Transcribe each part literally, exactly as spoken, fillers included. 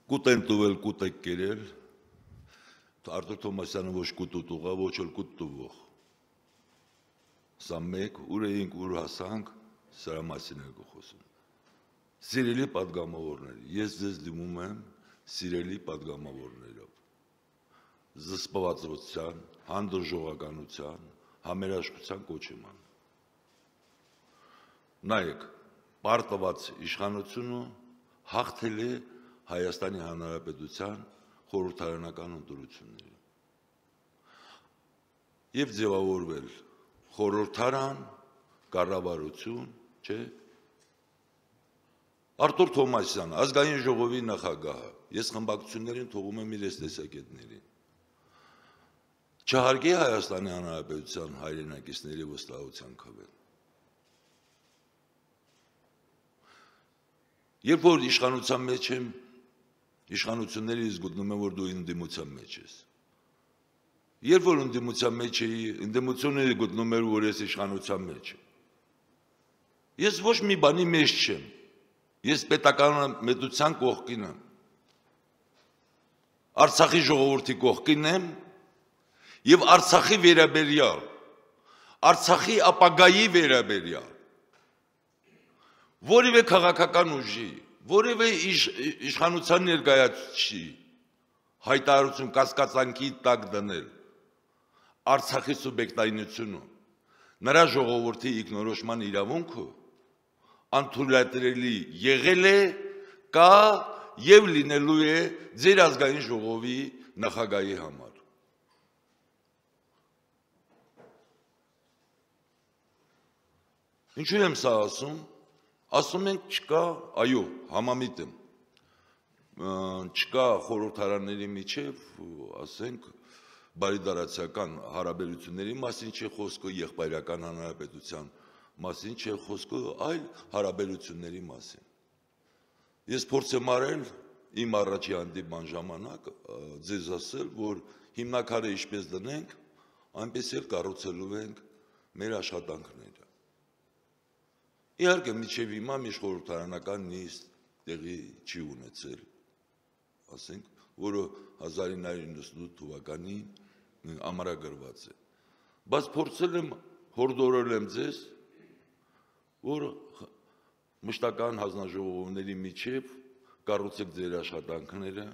Կուտ են տուվել, կուտ եք կերել, Արտուր Թոմասյանը ոչ կուտ ուտուղա, ոչ էլ կուտ տուվող։ Սա մեկ, ուր էինք, ուր հասանք, սրա մասին եք խոսում։ Սիրելի պատգամավորներ, ես ձեզ դիմում եմ սիրելի պատգամավորներով, զսպվածության, հանդուրժողականության, համերաշխության կոչ եմ անում։ Նայեք, պարտված իշխանությունը հաղթել է Հայաստանի Հանրապետության խորհրդարանական ընտրությունների եւ ձևավորվել խորհրդարան, կառավարություն, չէ։ Արտուր Թոմասյանը, ազգային ժողովի նախագահը, ես խմբակցություններին թողում եմ իրենց տեսակետներին։ Չհարգի Հայաստանի Հանրապետության հայրենակիցների վստահության քվեն։ Երբ որ իշխանության մեջ եմ, իշխանություններից գտնում եմ, որ դու ընդդիմության մեջ ես։ Երբ որ ընդդիմության մեջ էի, ընդդիմությունները գտնում էր, որ ես իշխանության մեջ եմ։ Ես ոչ մի բանի մեջ չեմ։ Ես պետական մեծության կողքին եմ։ Արցախի ժողովրդի կողքին եմ եւ Արցախի վերաբերյալ, Արցախի ապագայի վերաբերյալ որևէ քաղաքական ուժի, որևէ իշխանության ներկայացուցիչի հայտարարություն կասկածանքի տակ դնել Արցախի սուբյեկտայնությունը, նրա ժողովրդի իգնորոշման իրավունքը անթույլատրելի եղել է, կա եւ լինելու է ձեր ազգային ժողովի նախագահի համար։ Ինչու եմ սա ասում։ Ասում ենք չկա, այո, համամիտ եմ, չկա խորհրդարանների միջև, ասենք, բարիդարացիական հարաբերությունների մասին չէ խոսքը, եղբայրական հանրապետության մասին չէ խոսքը, այլ հարաբերությունների մասին։ Ես փորձ եմ արել իմ առաջի հանդիպման ժամանակ ձեզ ասել, որ հիմնակարը ինչպես դնենք, այնպես էլ կառուցելու ենք մեր աշխատանքները։ Իհարկե, մինչև հիմա մի խորհրդարանական նիստ տեղի չի ունեցել, ասենք, որը հազար ինը հարյուր իննսունութ թվականին ամրագրված է։ Բայց փորձել եմ, հորդորել եմ ձեզ, որ մշտական հանձնաժողովների միջև կառուցեք ձեր աշխատանքները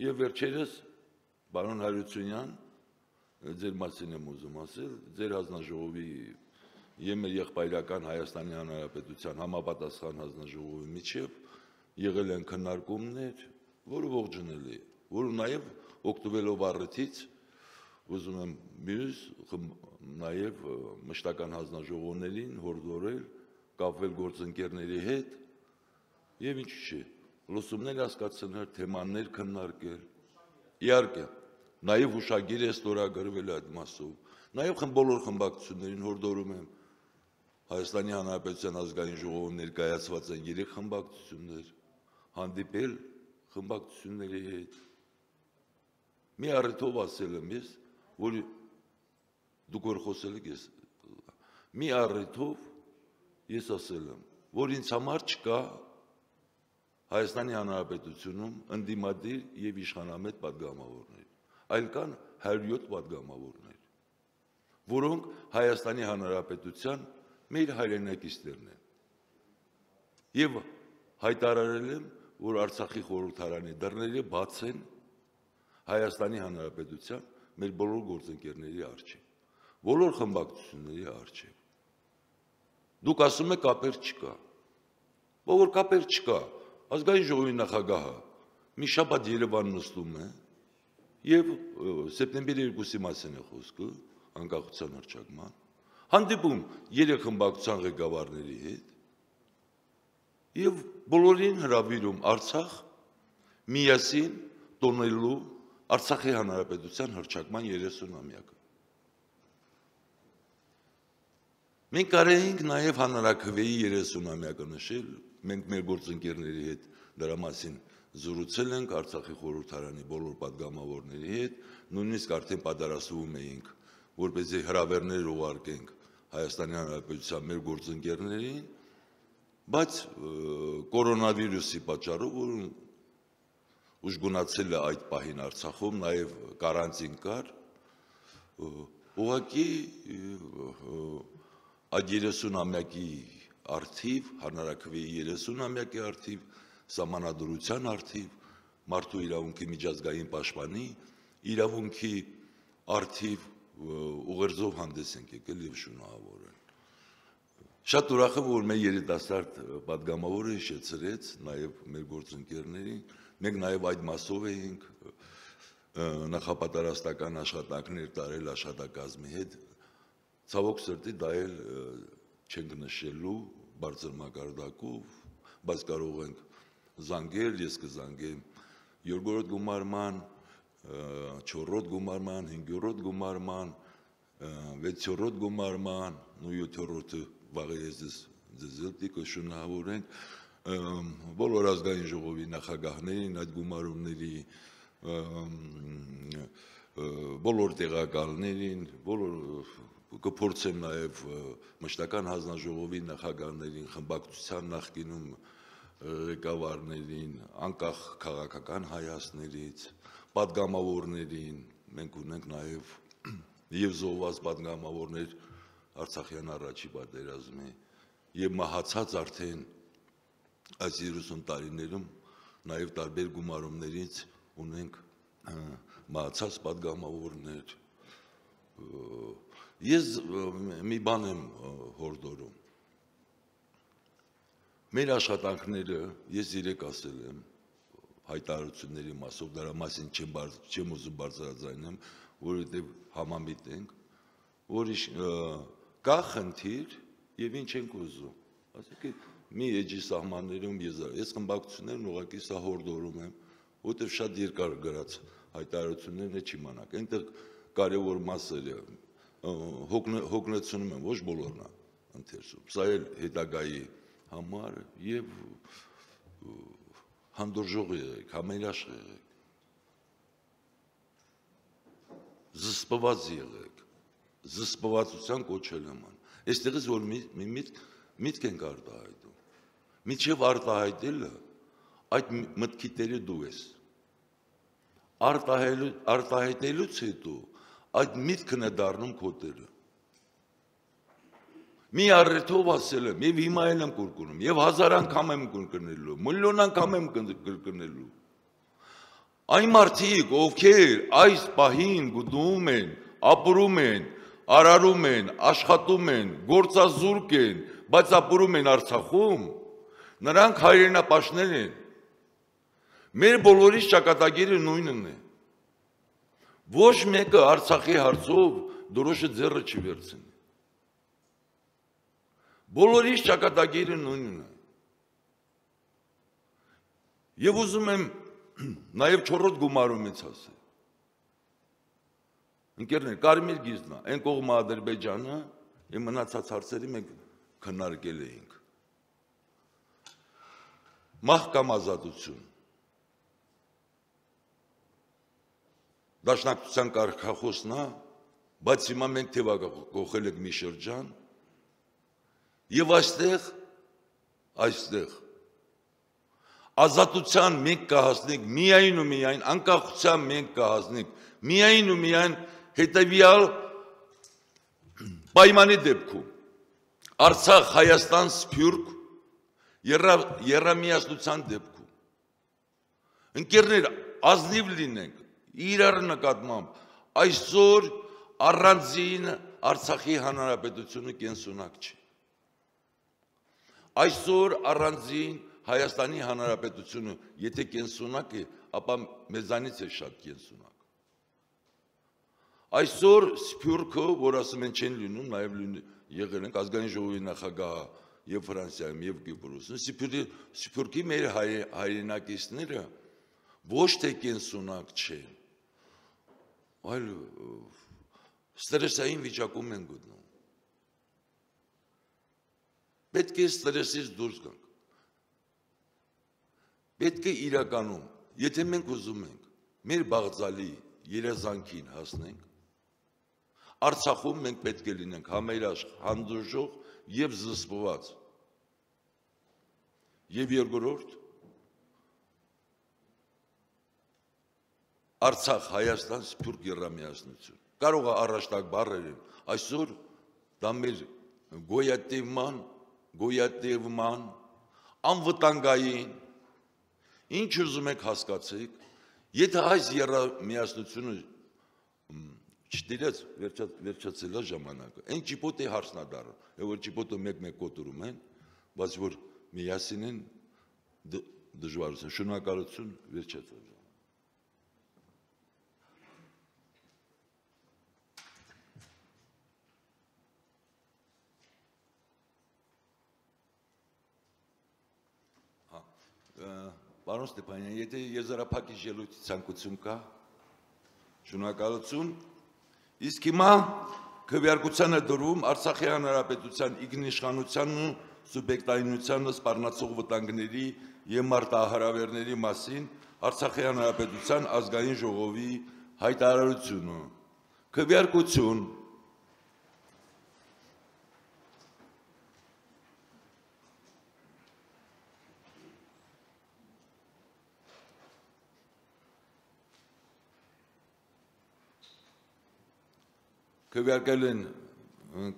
եւ վերջերս պարոն Հարությունյան, ձեր մասին եմ ուզում ասել, ձեր հանձնաժողովի եւ մեր եղբայրական Հայաստանի Հանրապետության համապատասխան հանձնաժողովի միջև եղել են քննարկումներ, որը ողջունելի է, որը նաեւ օգտվելով առիթից ուզում եմ մյուս նաեւ մշտական հանձնաժողովներին հորդորել կապվել գործընկերների հետ եւ ինչ չէ, լուսումներ հասկացնել, թեմաներ քննարկել։ Իհարկե, նաեւ հուշագիր է ստորագրվել այդ մասով, նաեւ բոլոր խմբակցություններին հորդորում եմ Հայաստանի Հանրապետության ազգային ժողովում ներկայացված են երեք խմբակցություններ, հանդիպել խմբակցությունների հետ։ Մի առիթով ասել եմ ես, որ դուք որ խոսել եք ես, մի առիթով ես ասել եմ, որ ինձ համար չկա Հայաստանի Հանրապետությունում ընդդիմադիր եւ իշխանամետ պատգամավորներ, այլ կան հարյուր յոթ պատգամավորներ, որոնք Հայաստանի Հանրապետության մեր հայրենակիցներն են։ Եվ հայտարարել եմ, որ Արցախի խորհրդարանի դռները բաց են Հայաստանի Հանրապետության մեր բոլոր գործընկերների առջև, բոլոր խմբակցությունների առջև։ Դուք ասում եք կապեր չկա։ Որ կապեր չկա, ազգային ժողովի նախագահը մի շաբաթ Երևան նստում է եւ սեպտեմբերի երկուսի մասին է խոսքը, անկախության հռչակման, հանդիպում երեք խմբակցության ղեկավարների հետ եւ բոլորին հրավիրում Արցախ միասին տոնելու Արցախի Հանրապետության հռչակման երեսունամյակը։ Մենք կարեինք նաեւ հանրաքվեի երեսունամյակը նշել, մենք մեր գործընկերների հետ դրա մասին զրուցել ենք Արցախի խորհրդարանի բոլոր պատգամավորների հետ, նույնիսկ արդեն պատրաստվում էինք, որպեսզի հրավերներ ուղարկենք Հայաստանի Հանրապետության մեր գործընկերներին, բայց կորոնավիրուսի պատճառով որ ուժգնացել է այդ պահին Արցախում, նաև կարանտին կար, ուղղակի այդ երեսունամյակի արդիվ, հանրաքվեի երեսունամյակի արդիվ, սահմանադրության արդիվ, մարդու իրավունքի միջազգային պաշտպանի իրավունքի արդիվ ուղերձով հանդես ենք եկել եւ շնորհավոր են։ Շատ ուրախ եմ, որ մեր երիտասարդ պատգամավորը հիշեցրեց նաև մեր գործընկերներին, մենք նաև այդ մասով էինք նախապատրաստական աշխատանքներ տարել աշխատակազմի հետ, ցավոք սրտի դա էլ չենք նշելու բարձր մակարդակով, բայց կարող ենք զանգել, ես կզանգեմ երկրորդ գումարման, չորրորդ գումարման, հինգերորդ գումարման, վեցերորդ գումարման, ու յոթերորդը վաղ ես ձեզ կշնորհավորենք բոլոր ազգային ժողովի նախագահներին, այդ գումարումների բոլոր տեղակալներին, բոլոր կփորձեմ նաև մշտական հանձնաժողովի նախագահներին, խմբակցության նախկինում ղեկավարներին, անկախ քաղաքական հայացքներից, պատգամավորներին, մենք ունենք նաև եւ զոհված պատգամավորներ Արցախյան առաջի պատերազմի եւ մահացած արդեն այս երեսուն տարիներում նաև տարբեր գումարումներից ունենք մահացած պատգամավորներ։ Ես մի բան եմ հորդորում։ Մեր աշխատանքները, ես երեք ասել եմ հայտարարությունների մասով, դրա մասին չեմ ուզում բարձրաձայնեմ, որովհետև համամիտ ենք, որ կա խնդիր եւ ինչ ենք ուզում։ Ասեք մի էջի սահմաններում ես խմբակցություններն ուղղակի սա հորդորում եմ, որտեղ շատ երկար գրած հայտարարություններն չիմանաք։ Այնտեղ կարևոր մասերը հոգնեցնում են, ոչ բոլորն է ընթերցում։ Սա էլ հետագայի համար եւ հանդուրժող եղեք, համերաշխ եղեք, զսպված եղեք, զսպվածության կոչել եմ ան։ Այստեղից որ մի միտք ենք արտահայտում, միջև արտահայտելը այդ մտքի տերը դու ես, արտահայտելուց հետո այդ միտքն է դառնում քո տերը։ Մի առիթով ասել եմ, եւ հիմա էլ եմ կրկնում, եւ հազար անգամ եմ կրկնելու, միլիոն անգամ եմ կրկնելու։ Այն մարդիկ, ովքեր այս պահին գտնում են, ապրում են, արարում են, աշխատում են, գործազուրկ են, բայց ապրում են Արցախում, նրանք հայրենապաշտներ են։ Մեր բոլորիս ճակատագիրը նույնն է։ Ոչ մեկը Արցախի հարցով դրոշը ձեռը չի վերցնի։ Բոլորիս ճակատագիրը նույնն է։ Եվ ուզում եմ նաև չորրորդ գումարումից ասել։ Ընկերներ, կարմիր գիզն է, այն կողմը Ադրբեջանը, եւ մնացած հարցերի մենք քննարկել էինք։ Մահ կամ ազատություն։ Դաշնակցության կարգախոսն է, բայց հիմա մենք թեւակողել ենք մի շրջան, եւ այստեղ, այստեղ ազատության մենք կհասնենք միայն ու միայն, անկախության մենք կհասնենք միայն ու միայն հետևյալ պայմանի դեպքում։ Արցախ, Հայաստան, Սփյուռք եռամիասնության դեպքում։ Ընկերներ, ազնիվ լինենք իրար նկատմամբ, այսօր առանձին Արցախի հանրապետությունը կենսունակ չի։ Այսօր առանձին Հայաստանի հանրապետությունը, եթե կենսունակ է, ապա մեզանից է շատ կենսունակ։ Այսօր Սփյուռքը, որ ասում են չեն լինում, նաև եղել ենք ազգային ժողովի նախագահ եւ Ֆրանսիայում եւ Կիպրոսում, Սփյուռքի մեր հայրենակիցները ոչ թե կենսունակ չեն, այլ ստրեսային վիճակում են գտնում։ Պետք է ստրեսից դուրս գանք։ Պետք է իրականում, եթե մենք ուզում ենք մեր բաղձալի երազանքին հասնենք, Արցախում մենք պետք է լինենք համերաշխ, հանդուրժող եւ զսպված։ Եվ երկրորդ Արցախ, Հայաստան, Սփյուռք երամիասնություն։ Կարող է առաջտակ բառեր են, այսօր դա մեր գոյատևման, գոյատևման, անվտանգային, ինչ ուզում եք հասկացեք, եթե այս երամիասնությունը չտիրեց վերջացել է ժամանակը, այն ճիպոտի հարցն է դառնում, որ ճիպոտը մեկ-մեկ կոտորում են, բայց որ միասին են դժվարություն, շնորհակալություն, վերջացել։ Պարոն Ստեփանյան, եթե եզրափակիչ ելույթի ցանկություն կա, շնորհակալություն, իսկ հիմա քվեարկությանը դրում Արցախի հանրապետության ինքնիշխանությանն ու սուբյեկտայնությանը սպառնացող վտանգների եւ մարտահրավերների մասին Արցախի հանրապետության ազգային ժողովի հայտարարությունը։ Քվեարկություն Քվեարկել են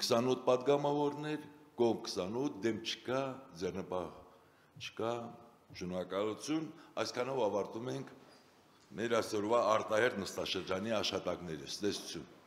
քսանութ պատգամավորներ, կողմ քսանութ, դեմ չկա, ձեռնպահ չկա, շնորհակալություն, այսքանով ավարտում ենք մեր այսօրվա արտահերթ նստաշրջանի աշխատանքները, ցտեսություն։